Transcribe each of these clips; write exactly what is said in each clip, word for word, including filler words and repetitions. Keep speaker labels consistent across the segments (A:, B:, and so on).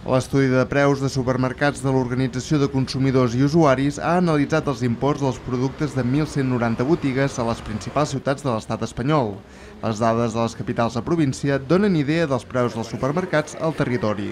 A: L'estudi de preus de supermercats de l'Organització de Consumidors i Usuaris ha analitzat els imports dels productes de mil cent noranta botigues a les principals ciutats de l'estat espanyol. Les dades de les capitals de província donen idea dels preus dels supermercats al territori.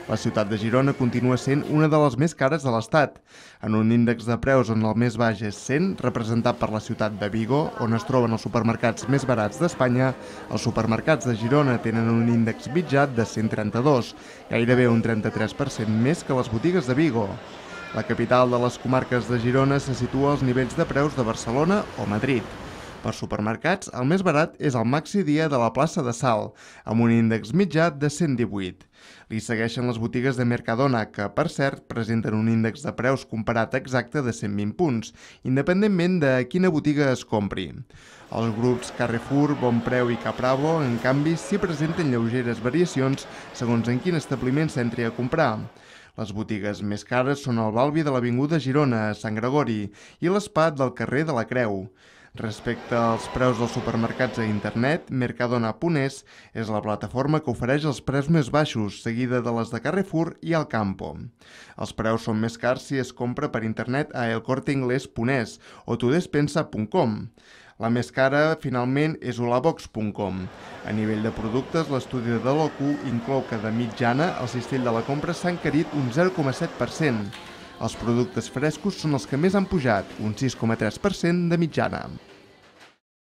A: La ciutat de Girona continua sent una de les més cares de l'estat. En un índex de preus on el més baix és cent, representat per la ciutat de Vigo, on es troben els supermercats més barats d'Espanya, els supermercats de Girona tenen un índex mitjà de cent trenta-dos, gairebé un trenta-tres per cent més que les botigues de Vigo. La capital de les comarques de Girona se situa als nivells de preus de Barcelona o Madrid. Per supermercats, el més barat és el Maxi Dia de la plaça de Salt, amb un índex mitjà de cent divuit. Li segueixen les botigues de Mercadona, que, per cert, presenten un índex de preus comparat exacte de cent vint punts, independentment de quina botiga es compri. Els grups Carrefour, Bonpreu i Capravo, en canvi, s'hi presenten lleugeres variacions segons en quin establiment s'entri a comprar. Les botigues més cares són el Balbi de l'Avinguda Girona, a Sant Gregori, i l'Espat del carrer de la Creu. Respecte als preus dels supermercats a internet, Mercadona punt es és la plataforma que ofereix els preus més baixos, seguida de les de Carrefour i Alcampo. Els preus són més cars si es compra per internet a el corte inglés punt es o tudespensa punt com. La més cara, finalment, és olabox punt com. A nivell de productes, l'estudi de l'O Q inclou que de mitjana el cistell de la compra s'ha encarit un zero coma set per cent. Els productes frescos són els que més han pujat, un sis coma tres per cent de mitjana.